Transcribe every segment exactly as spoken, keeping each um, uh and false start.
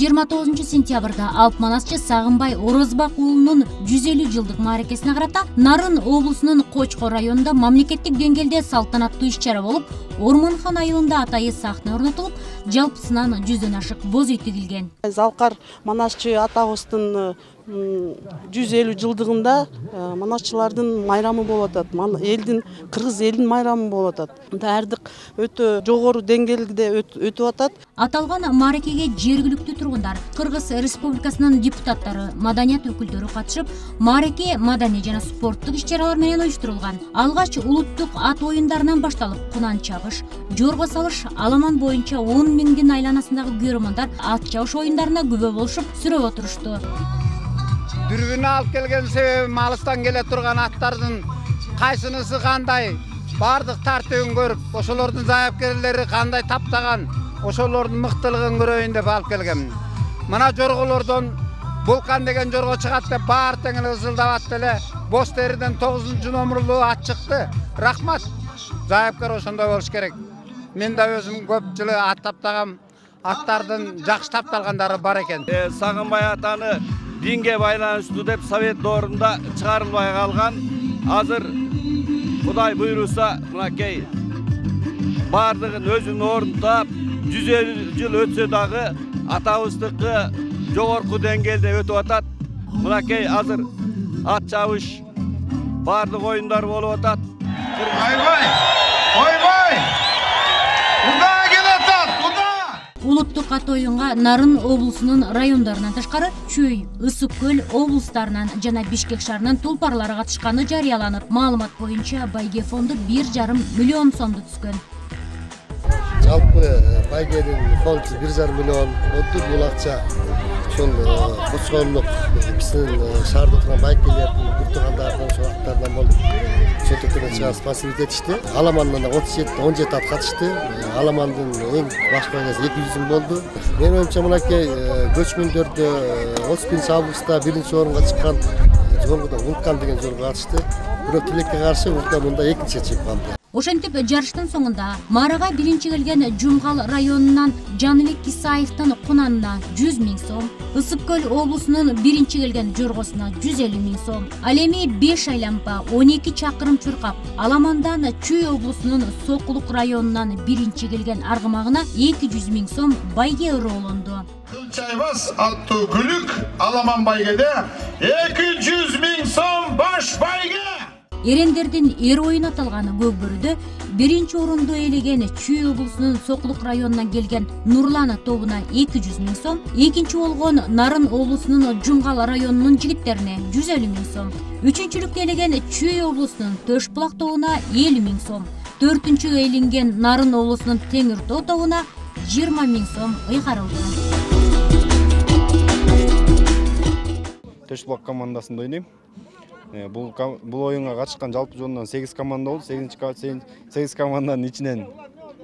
жыйырма тогузунчу сентябрда Алп Манасчы Сагынбай Орозбак уулунун жүз элүү жылдык мааракесине карата Нарын облусунун Кочкор районунда мамлекеттик деңгээлде салтанаттуу иш-чара болуп, Ормонхон айылында атайы сахна орнотулуп, жалпысынан жүздөн ашык боз үй тигилген. Залкар Манасчы атабыздын жүз элүү жылдыгында манасчылардын майрамы болуп атат. Элдин, кыргыз элдин майрамы болуп атат. Даярдык өтө жогору деңгээлде өтүп атат. Аталган мааракеге жергиликтүү тургундар, Кыргыз Республикасынын депутаттары, маданият өкүлдөрү катышып, маараке маданий жана спорттук иш-чаралар менен уюштурулган. Алгач улуттук ат оюндарынан башталып, кунан чабыш, жорго салыш, аламан боюнча он миңдин айланасындагы көрөрмандар ат чабыш оюндарына күбө болушуп, сүрөп отурушту. Дүрбүнү алып келген себебим алыстан келе турган аттардын кайсынысы кандай, бардык тартыбын көрүп, ошолордун заяпкерлери кандай таптаган, ошолордун мыктылыгын көрөйүн деп алып келгем. Мына жорголордон Вулкан деген жорго чыгат деп баары тең эле ызылдап эле боз териден тогузунчу номерлуу ат чыкты. Рахмат. Заяпкер ошондой болуш керек. Мен да өзүм көп жылы ат таптагам, аттардын жакшы тапталгандары бар экен. Сагынбай атаны динге байланыштуу деп совет доорунда чыгарылбай калган. Азыр Кудай буйруса, мынакей бардыгын өзүнүн ордун таап, жүз элүү жыл өтсө дагы атабыздыкы жогорку деңгээлде өтүп атат. Мынакей азыр ат чабыш, бардык оюндар болуп атат. Ойбой! Ойбой! Куда келатат? Куда? Улуттук ат оюнга Нарын облусунун райондорунан тышкары Чүй, Ысык көл облустарынан жана Бишкек шаарынын тулпарлары катышканы жарыяланып, маалымат боюнча байге фонду бир жарым миллион сомду түскөн. Жалпы байгенин фонду бир жарым миллион болду. Бул акча ошол Кочкорлук биздин шаарда турган байгелердин буртугандарынан, ошолардан болуп сөтөтөрүн чыгып спасибет этишти. Аламандан отуз жети он жети ат катышты. Аламандын эң баш байгасы эки жүз миң болду. Менин оюмча мынакей көчмөндөрдө отуз биринчи августта биринчи орунга чыккан жоргодо Вулкан деген жорго катышты. Бирок тилекке каршы Вулкан мында экинчи чыгып калды. Ошентип жарыштын соңунда маарага биринчи келген Жумгал районунан Жаныбек Исаевдин кунанына жүз миң сом, Ысык көл облусунун биринчи келген жоргосуна жүз элүү миң сом, ал эми беш айлампа он эки чакырым чуркап, Аламандан Чүй облусунун Сокулук районунан биринчи келген аргымагына эки жүз миң сом байге ыроолонду. Чайбас аттуу күлүк Аламан байгеде эки жүз миң сом баш байге. Эрендердин эр оюн аталган көкбөрүдө биринчи орунду ээлеген Чүй облусунун Сокулук районунан келген Нурлана тобуна эки жүз миң сом, экинчи болгон Нарын облусунун Жумгал районунун жигиттерине жүз элүү миң сом, үчүнчүлүктө ээлеген Чүй облусунун Төш булак тобуна элүү миң сом, төртүнчү ээленген Нарын облусунун Теңир тоо тобуна жыйырма миң сом ыйгарылды. Төш булак командасында ойнойм. Бул бул оюнга катышкан жалпы жонунан сегиз команда болду. сегиз команданын ичинен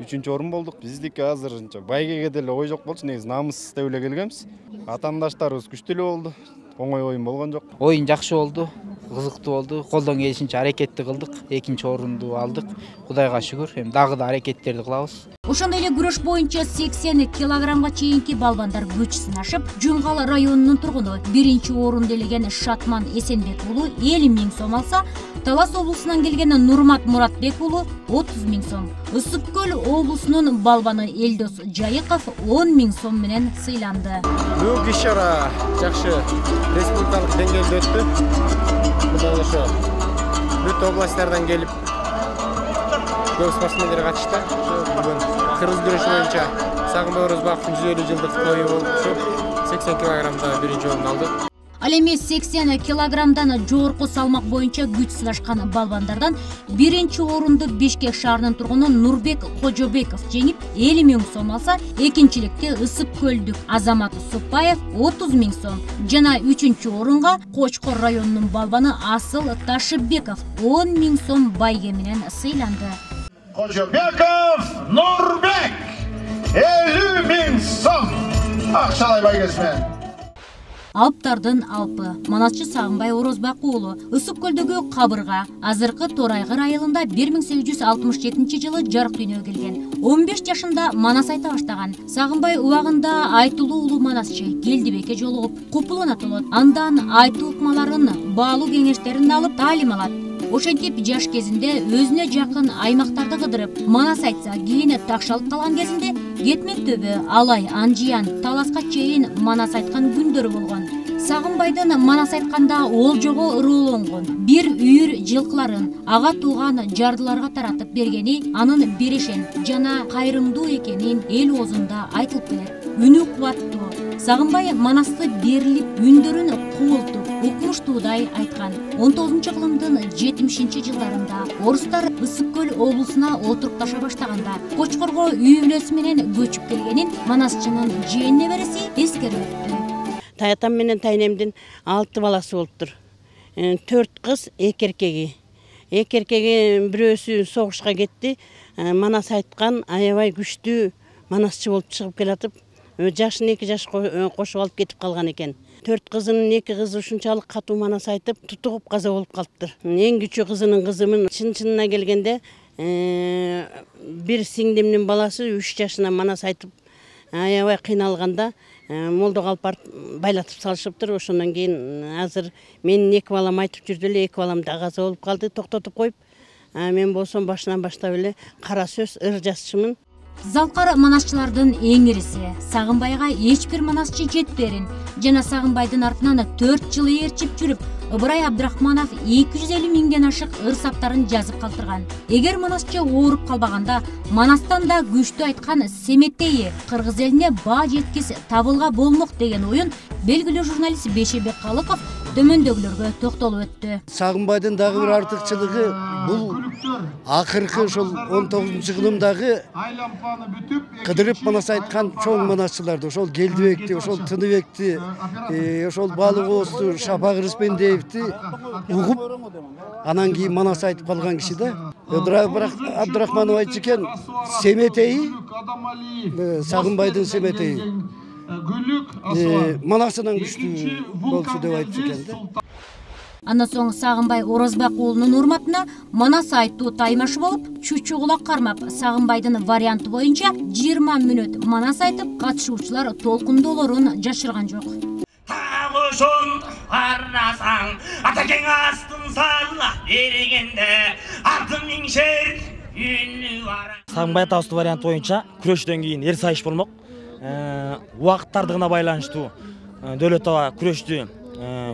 үчүнчү орун болдук. Биздики азырынча байгеге деле ой жок болчу. Негизи намыс деп эле келгенбиз. Атаандаштарыбыз күчтүү эле болду. Оңой оюн болгон жок. Оюн жакшы болду, кызыктуу болду. Колдон келишинче аракетти кылдык. Экинчи орунду алдык. Кудайга шүгүр. Эми дагы да аракеттерди кылабыз. Ошондой эле күрөш боюнча сексен килограммга чейинки балбандар күч сынашып, Жумгал районунун тургуну биринчи орунду ээлеген Шатман Эсенбек уулу элүү миң сом алса, Талас облусунан келген Нурмат Муратбек уулу отуз миң сом, Ысык көл облусунун балбаны Элдос Жайыков он миң сом менен сыйланды. Бүгүнкү иш-чара жакшы республикалык деңгээлде өттү. Мына ошо бүт областтардан келип көп спортсмендер катышты. Бүгүн кыргыз күрөшү боюнча Сагынбай Орозбаковдун жүз элүү жылдык тою болуп, сексен килограммда биринчи орун алды. Ал эми сексен килограммдан жогорку салмак боюнча күч сынашкан балбандардан биринчи орунду Бишкек шаарынын тургуну Нурбек Кожобеков жеңип элүү миң сом алса, экинчиликте Ысык көлдүк Азамат Супаев отуз миң сом жана үчүнчү орунга Кочкор районунун балбаны Асыл Ташыбеков он миң сом байге менен сыйланды. Кожобеков Нурбек элүү миң сом акчалай байгесимен. Алптардын Алпы, манасчы Сагынбай Орозбак уулу. Ысык көлдөгү Кабырга азыркы Торайгыр айылында бир миң сегиз жүз алтымыш жетинчи жылы жарык дүйнөгө келген. он беш жашында манас айта баштаган. Сагынбай убагында айтылуу улуу манасчы Келдибекке жолугуп, купулуна толот. Андан айтуу ыкмаларын, баалуу кеңештерин алып таалим алат. Ошентип жаш кезинде өзүнө жакын аймактарды кыдырып, манас айтса, кийин такшалып калган кезинде Кетмен төбө, Алай, Анжиян, Таласка чейин манас айткан күндөрү болгон. Сагынбайдын манас айтканда олжого ырууланган, бир үйүр жылкыларын ага тууган жардыларга таратып бергени анын берешен жана кайрымдуу экенин эл оозунда айтылып келет. Үнү кубаттуу. Сагынбай манасты берилип, үндөрүн куултуп, укмуштуудай айткан. он тогузунчу кылымдын жетимишинчи жылдарында орустар Ысык көл облусуна отурукташа баштаганда Кочкорго үй бүлөсү менен көчүп келгенин манасчынын жээн небереси эскерип өттү. Таятам менен тайнемдин алты баласы болуптур. төрт кыз, эки эркеги. Эки эркеги бирөөсү согушка кетти. Манас айткан аябай күчтүү манасчы болуп чыгып келатып, жашын эки жаш кошуп алып кетип калган экен. Төрт кызынын эки кызы ушунчалык катуу манас айтып, тутугуп каза болуп калыптыр. Эң күчү кызынын кызымын чын-чынына келгенде бир сиңдимдин баласы үч жашынан манас айтып аябай кыйналганда молдого алып барып байлатып салышыптыр. Ошондон кийин азыр менин эки балам айтып жүрдү эле, эки балам да каза болуп калды, токтотуп коюп. Мен болсом башынан баштап эле кара сөз, ыр жазчымын. Залкар манасчылардын эң ириси. Сагынбайга эч бир манасчы жетперин жана Сагынбайдын артынан төрт жыл ээрчип жүрүп, Ыбырай Абдрахманов эки жүз элүү миңден ашык ыр саптарын жазып калтырган. Эгер манасчы ооруп калбаганда, манастан да күчтүү айткан Семетейи кыргыз элине баа жеткис табылга болмок деген оюн белгилүү журналист Бешебек Калыков төмөндөгүлөргө токтолуп өттү. Сагынбайдын дагы бир артыкчылыгы бул акыркы ошол он тогузунчу кылымдагы кыдырып манас айткан чоң манасчыларды, ошол Келдибекти, ошол Тыныбекти, ошол Баалык Оозду, Шапак Рыспендеевти угуп, анан кийин манас айтып калган киши да. Ыбырай Абдрахманов айтчу экен, Семетейи, Сагынбайдын Семетейи манасынан күчтүү болчу деп айтчу экен да. Андан соң Сагынбай Орозбак уулунун урматына манас айтуу таймашы болуп, чучу кулак кармап, Сагынбайдын варианты боюнча жыйырма мүнөт манас айтып, катышуучулар толкундоолорун жашырган жок. Ошон карасаң, атакең астын салла эрегенде, артын миңшер үнү бара. Сагынбай атабыздын варианты боюнча күрөштөн кийин эр сайыш болмок. Убакыттардыгына байланыштуу Дөөлөт аба күрөштү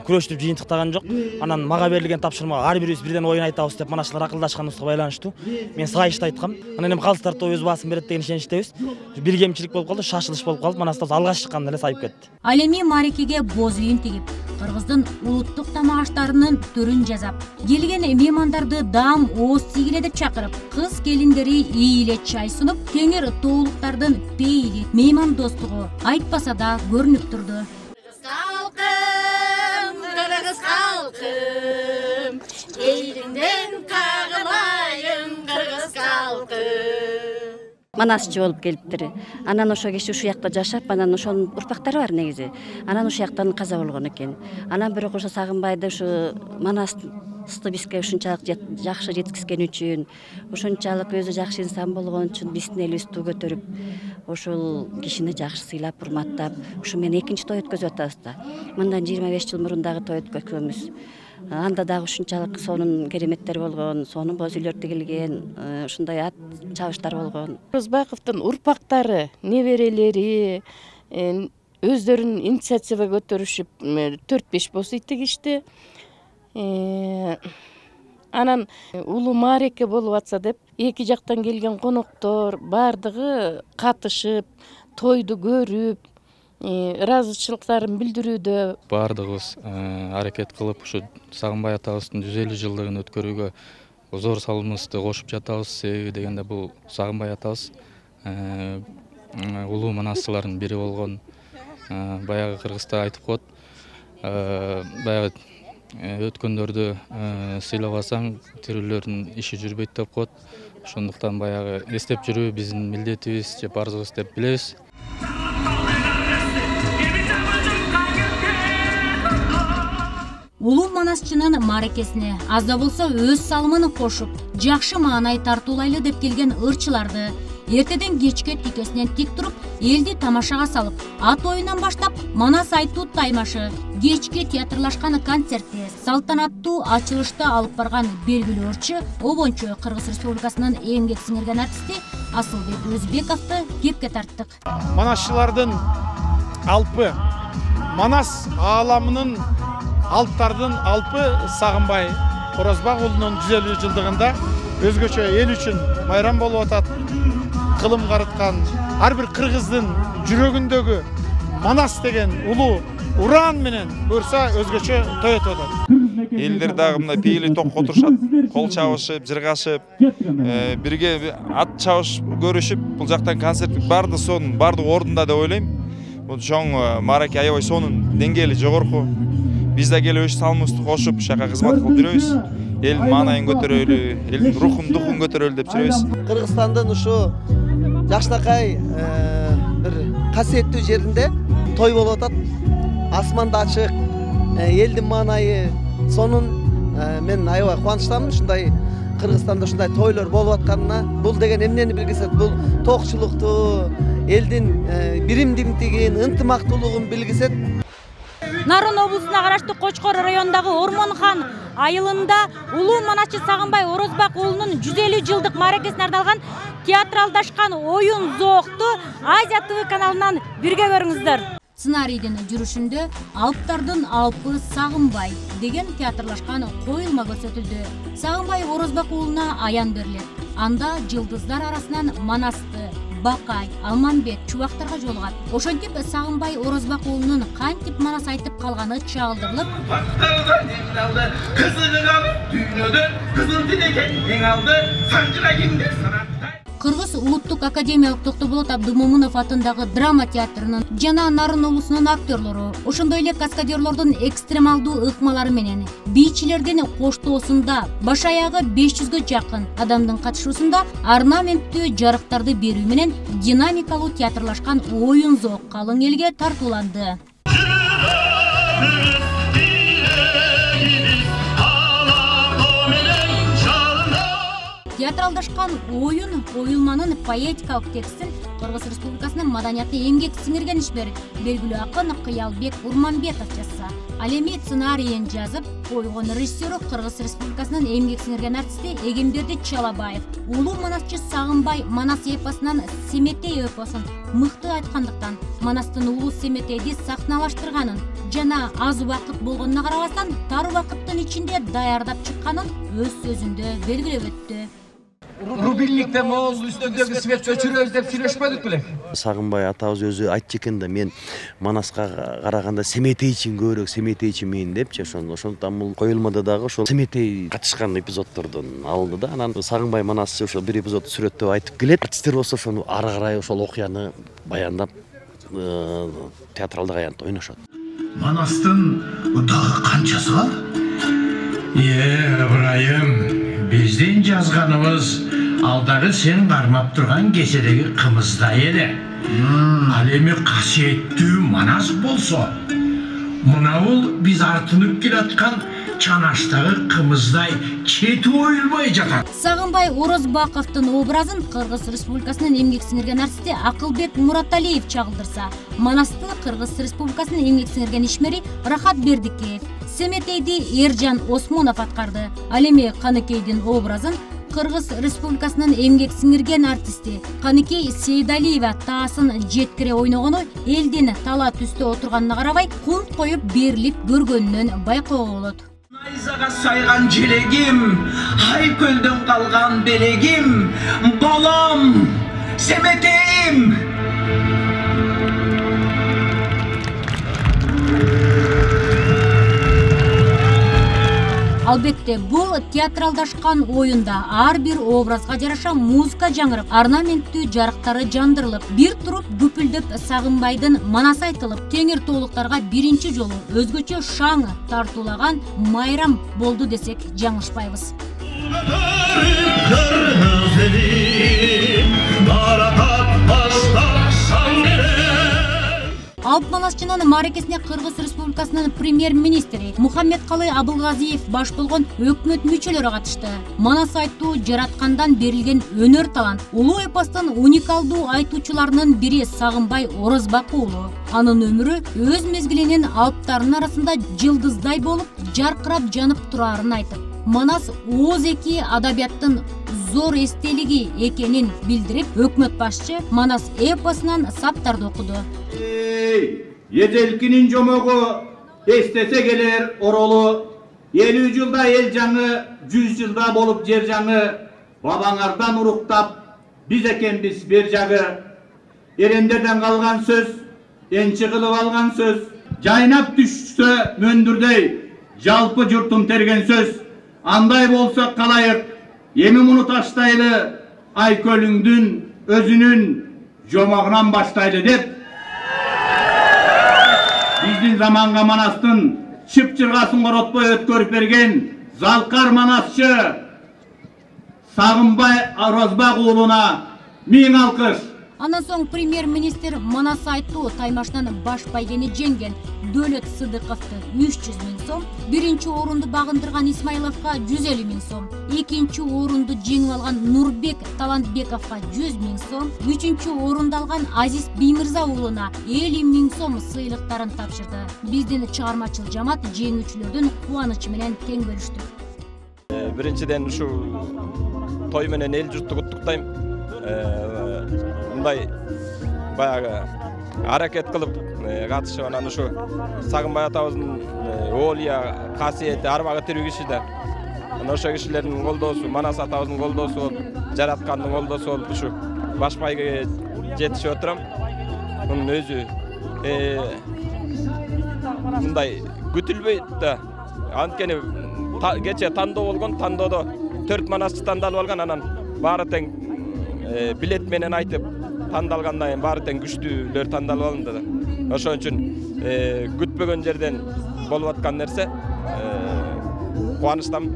күрөштүп жыйынтыктаган жок. Анан мага берилген тапшырмага ар бирибиз бирден оюн айтабыз деп манасчылар акылдашканыбызга байланыштуу мен сайышты айткам. Анан эми калыс тартоо өз баасын берет деген ишеничтебиз. Бир кемчилик болуп калды, шашылыш болуп калып, манастабыз алгач чыкканда эле сайып кетти. Ал эми Марекеге боз үйүн тигип, кыргыздын улуттук тамак аштарынын түрүн жасап, келген меймандарды даам ооз тийгиле деп чакырып, кыз келиндери ийиле чай сунуп, теңир тоолуктардын пейили, мейман достугу айтпаса да көрүнүп турду. Кыргыз калкым, элиңден кагылайын кыргыз калкым. Манасчы болуп келиптир. Анан ошо киши ушул жакта жашап, анан ошонун урпактары бар негизи. Анан ушул жактан каза болгон экен. Анан бирок ошо Сагынбайды ушу манасты бизге ушунчалык жакшы жеткизген үчүн, ошончалык өзү жакшы инсан болгон үчүн биздин элибизди туу көтөрүп, ошол кишини жакшы сыйлап, урматтап, ушу менен экинчи той өткөзүп атабыз да. Мындан жыйырма беш жыл мурун дагы той өткөзгөнбүз. Анда дагы ушунчалык сонун кереметтер болгон, сонун боз үйлөр тигилген, ушундай ат чабыштар болгон. Орозбаковдун урпактары, неберелери өздөрүнүн инициатива көтөрүшүп төрт беш боз үй тигишти. Анан улуу маареке болуп атса деп, эки жактан келген коноктор баардыгы катышып, тойду көрүп, ыраазычылыктарын билдирүүдө. Баардыгыбыз аракет кылып, ушу Сагынбай атабыздын жүз элүү жылдыгын өткөрүүгө зор салымыбызды кошуп жатабыз. Себеби дегенде бул Сагынбай атабыз улуу манасчылардын бири болгон. Баягы кыргызда айтып коет, баягы өткөндөрдү сыйлабасаң, тирүүлөрдүн иши жүрбөйт деп коет. Ошондуктан баягы эстеп жүрүү биздин милдетибиз же парызыбыз деп билебиз. Улуу манасчынын мааракесине аз да болсо өз салымын кошуп, жакшы маанай тартуулайлы деп келген ырчыларды эртеден кечке тикесинен тик туруп, элди тамашага салып, ат оюнан баштап Манас айтуу таймашы, кечке театрлашкан концертте, салтанаттуу ачылышта алып барган белгилүү ырчы, обончу Кыргыз Республикасынын эмгек сиңирген артисти Асылбек Өзбековду кепке тарттык. Манасчылардын алпы, Манас ааламынын алптардын алпы Сагынбай Орозбак уулунун жүз элүү жылдыгында өзгөчө эл үчүн майрам болуп атат. Кылым карыткан ар бир кыргыздын жүрөгүндөгү Манас деген улуу уран менен көрсө өзгөчө той өтүп атат. Элдер дагы мындай пейили токко отурушат, кол чабышып, жыргашып, бирге ат чабыш көрүшүп, бул жактан концерттин баардык сонун, баардык ордунда деп ойлойм. Бул чоң маараке аябай сонун, деңгээли жогорку. Биз да келип өз салымыбызды кошуп, шака кызмат кылып жүрөбүз. Элдин маанайын көтөрөлү, элдин рухун, духун көтөрөлү деп жүрөбүз. Кыргызстандын ушу жакшынакай бир касиеттүү жеринде той болуп атат. Асманда ачык, элдин маанайы сонун. Мен аябай кубанычтамын ушундай Кыргызстанда ушундай тойлор болуп атканына. Бул деген эмнени билгизет? Бул токчулукту, элдин биримдиктигин, ынтымактуулугун билгизет. Нарын облусуна караштуу Кочкор районундагы Ормонхан айылында улуу манасчы Сагынбай Орозбак уулунун жүз элүү жылдык мааракесине арналган театралдашкан оюн зоокту Азия ТВ каналынан бирге көрүңүздөр. Сценарийдин жүрүшүндө Алптардын алпы Сагынбай деген театрлашкан коюлма көрсөтүлдү. Сагынбай Орозбак уулуна аян берилет. Анда жылдыздар арасынан Манасты, Бакай, Алманбек чубактарга жолугат. Ошентип Сагынбай Орозбак уулунун кантип Манас айтып калганы чагылдырылып, Кыргыз улуттук академиялык Токтоболот Абдымомунов атындагы драма театрынын жана Нарын облусунун актерлору, ошондой эле каскадерлордун экстремалдуу ыкмалары менен бийчилердин коштоосунда баш аягы беш жүзгө жакын адамдын катышуусунда орнаменттүү жарыктарды берүү менен динамикалуу театрлашкан оюн зоок калың элге тартууланды. Театралдашкан оюн коюлманын поэтикалык текстин Кыргыз Республикасынын маданиятты эмгек сиңирген ишмер белгилүү акын Кыялбек Урманбетов жазса, ал эми сценарийин жазып койгон режиссеру Кыргыз Республикасынын эмгек сиңирген артисти Эгемберди Чалабаев. Улуу манасчы Сагынбай Манас эпосунан Семетей эпосун мыкты айткандыктан Манастын улуу Семетейди сахналаштырганын жана аз убакыт болгонуна карабастан тар убакыттын ичинде даярдап чыкканын өз сөзүндө белгилеп өттү. Рубильникте могул үстүндөгү светти өчүрөбүз деп сүйлөшпөдүк беле? Сагынбай атабыз өзү айтчу экен да, мен Манаска караганда Семетейчин көбүрөөк Семетейчин мен депчи. Ошондуктан бул коюлмада дагы ошол Семетей катышкан эпизоддордон алынды да. Анан Сагынбай Манасчы ошол бир эпизодду сүрөттөп айтып келет. Артисттер болсо ошону ары карай ошол окуяны баяндап театралдык аянтта ойношот. Манастын дагы канчасы бар? Э, Ыбрайым, биздин жазганыбыз алдагы сен кармап турган кеседеги кымыздай эле. Ал эми касиеттүү Манас болсо, мынабул биз артынып келаткан чанаштагы кымыздай чети оюлбай жатат. Сагынбай Орозбаковдун образын Кыргыз Республикасынын эмгек сиңирген артисти Акылбек Мураталиев чагылдырса, Манасты Кыргыз Республикасынын эмгек сиңирген ишмери Рахат Бердикеев, Семетейди Эржан Осмонов аткарды. Ал эми Каныкейдин образын Кыргыз Республикасынын эмгек сиңирген артисти Каныкей Сейдалиева таасын жеткире ойногону элдин тала түстө отурганына карабай кунт коюп берилип көргөнүнөн байкоого болот. Найзага сайган желегим, ай көлдөн калган белегим, балам, Семетейим. Албетте, бул театралдашкан оюнда ар бир образга жараша музыка жаңырып, орнаменттүү жарыктары жандырылып, бир туруп күпүлдөп Сагынбайдын Манасы айтылып, теңир тоолуктарга биринчи жолу өзгөчө шаң тартуулаган майрам болду десек жаңылышпайбыз. Алп манасчынын мааракесине Кыргыз Республикасынын премьер-министри Мухаммедкалый Абылгазиев баш болгон өкмөт мүчөлөрү катышты. Манас айтуу жараткандан берилген өнөр талант. Улуу эпостун уникалдуу айтуучуларынын бири Сагынбай Орозбак уулу. Анын өмүрү өз мезгилинин алптарынын арасында жылдыздай болуп, жаркырап жанып турарын айтып, Манас ооз эки адабияттын зор эстелиги экенин билдирип, өкмөт башчы Манас эпосунан саптарды окуду. Ежелкинин жомогу эстесе келер оролу, элүү жылда эл жаңы, жүз жылда болуп жер жаңы, бабаңардан уруктап, биз экенбиз бер жагы. Эрендерден калган сөз, энчи кылып алган сөз, жайнап түшсө мөндүрдөй, жалпы журтум терген сөз. Андай болсо калайык, эми муну таштайлы, Айкөлүңдүн өзүнүн жомогунан баштайлы деп. Биздин заманга Манастын чып-чыргасын коротпой өткөрүп берген залкар манасчы Сагынбай Орозбак уулуна миң алкыш. Андан соң премьер-министр Манас айтуу таймашынан баш байгени жеңген Дөөлөт Сыдыковду үч жүз миң сом, биринчи орунду багындырган Исмаиловго жүз элүү миң сом, экинчи орунду жеңип алган Нурбек Талантбековго жүз миң сом, үчүнчү орунду алган Азиз Биймырза уулуна элүү миң сом сыйлыктарын тапшырды. Биздин чыгармачыл жамаат жеңүүчүлөрдүн кубанычы менен тең бөлүштү. Биринчиден ушу той менен эл журтту куттуктайм. Мындай баягы аракет кылып катышып, анан ушу Сагынбай атабыздын оолия касиети арбагы тирүү киши да. Анан ошо кишилердин колдоосу, Манас атабыздын колдоосу болуп, жараткандын колдоосу болуп ушу баш байгеге жетишип отурам. Мунун өзү мындай күтүлбөйт да. Анткени кече тандоо болгон, тандоодо төрт манасчы тандалып алган, анан баары тең билет менен айтып тандалгандан кийин баары тең күчтүүлөр тандалып алынды да. Ошон үчүн күтпөгөн жерден болуп аткан нерсе, кубанычтамын.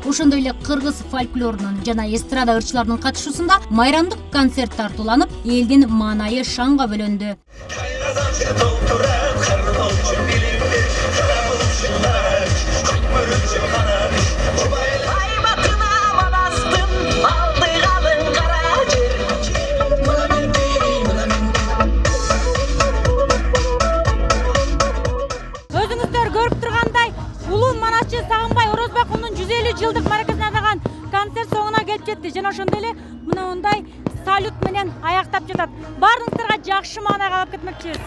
Ошондой эле кыргыз фольклорунун жана эстрада ырчыларынын катышуусунда майрамдык концерт тартууланып, элдин маанайы шаңга бөлөндү. Сагынбай Орозбак уулунун жүз элүү жылдык мааракесине арналган концерт соңуна келип жетти. Жана ошондой эле мына мындай салют менен аяктап жатат. Баарыңыздарга жакшы маанайга алып кетмекчибиз.